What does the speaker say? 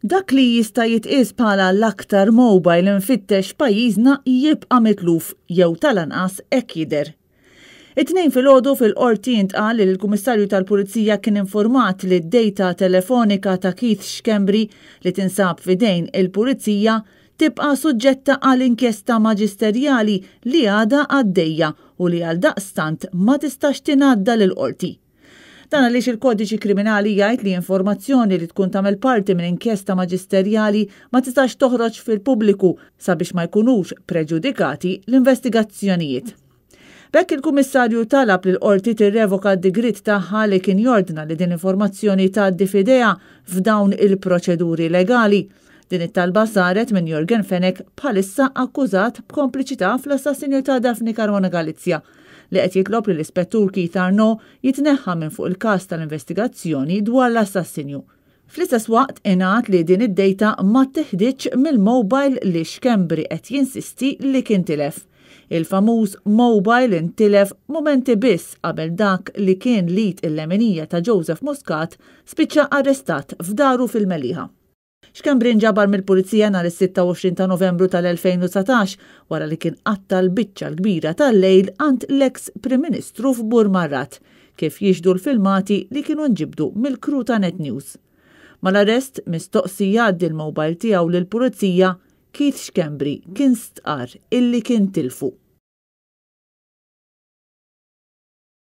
Dak li jista' jitqies bħala l-aktar mobile imfittex f'pajjiżna jibqa' mitluf jew tal-anqas hekk jidher. It-Tnejn filgħodu fil-Qorti intqal li l-Kummissarju tal-Pulizija kien informat li d-data telefonika ta' Keith Schembri li tinsab f'idejn il-Pulizija tibqa' suġġetta għal inkjesta maġisterjali li għadha għaddejja u li għaldaqstant ma tistax tingħadda lill-Qorti. Dan għaliex il-Kodiċi Kriminali jgħid li informazzjoni li tkun tagħmel parti minn inkjesta maġisterjali ma tistax toħroġ fil-pubbliku sabiex ma jkunux preġudikati l-investigazzjonijiet. B'hekk il-Kummissarju talab lill-Qorti tirrevoka d-digriet tagħha li kien jordna li din l-informazzjoni tgħaddi f'idejha f'dawn il-proċeduri legali. Din it-talba saret minn Yorgen Fenech bħalissa akkużat b'kompliċità fl-assassinju ta' Daphne Caruana Galizia li qed jitlob li l-Ispettur Keith Arnaud jitneħħa minn fuq il-każ tal-investigazzjoni dwar l-assassinju. Fl-istess waqt ingħad li din id-dejta ma ttiħditx mill-mobile li Schembri qed jinsisti li kien tilef. Il-famuż mobile intilef mumenti biss qabel dak li kien l-id il-leminija ta' Joseph Muscat spiċċa arrestat f'daru fil-Mellieħa. Schembri nġabar mill-Pulizija nhar is-26 ta' Novembru tal-2019 wara li kien qatta' l-biċċa l-kbira tal-lejl għand l-eks Prim Ministru f'Burmarrad, kif jixhdu l-filmati li kienu nġibdu mill-crew ta' Net News. Mal-arrest, mistoqsi jgħaddi l-mobile tiegħu lill-Pulizija, Keith Schembri kien stqarr illi kien tilfu.